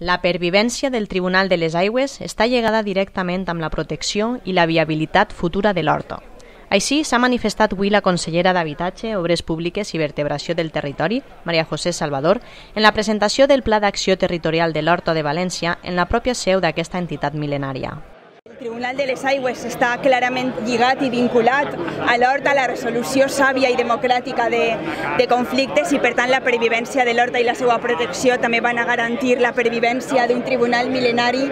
La pervivència del Tribunal de les Aigües està lligada directament amb la protecció i la viabilitat futura de l'Horta. Així s'ha manifestat avui la consellera d'Habitatge, Obres Públiques i Vertebració del Territori, Maria José Salvador, en la presentació del Pla d'Acció Territorial de l'Horta de València en la pròpia seu d'aquesta entitat mil·lenària. El Tribunal de les Aigües està clarament lligat i vinculat a l'Horta, a la resolució sàvia i democràtica de conflictes i, per tant, la pervivència de l'Horta i la seva protecció també van a garantir la pervivència d'un tribunal mil·lenari.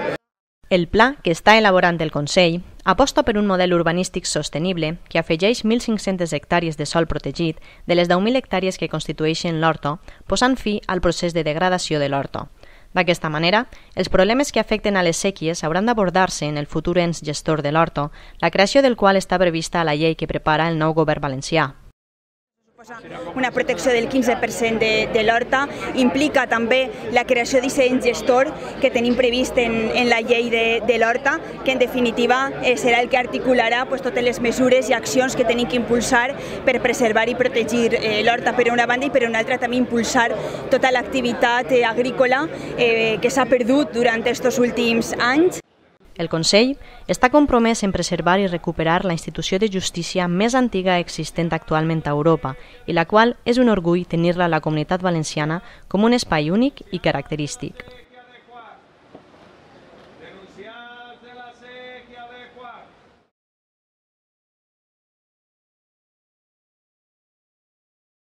El pla que està elaborant el Consell aposta per un model urbanístic sostenible que afegeix 1.500 hectàrees de sòl protegit de les 10.000 hectàrees que constitueixen l'Horta, posant fi al procés de degradació de l'Horta. D'aquesta manera, els problemes que afecten a les séquies hauran d'abordar-se en el futur ens gestor de l'Horta, la creació del qual està prevista a la llei que prepara el nou govern valencià. Una protecció del 15% de l'Horta implica també la creació d'aquest ens gestor que tenim previst en la llei de l'Horta, que en definitiva serà el que articularà totes les mesures i accions que tenim que impulsar per preservar i protegir l'Horta per una banda i per una altra també impulsar tota l'activitat agrícola que s'ha perdut durant aquests últims anys. El Consell està compromès en preservar i recuperar la institució de justícia més antiga existent actualment a Europa i la qual és un orgull tenir-la a la Comunitat Valenciana com un espai únic i característic.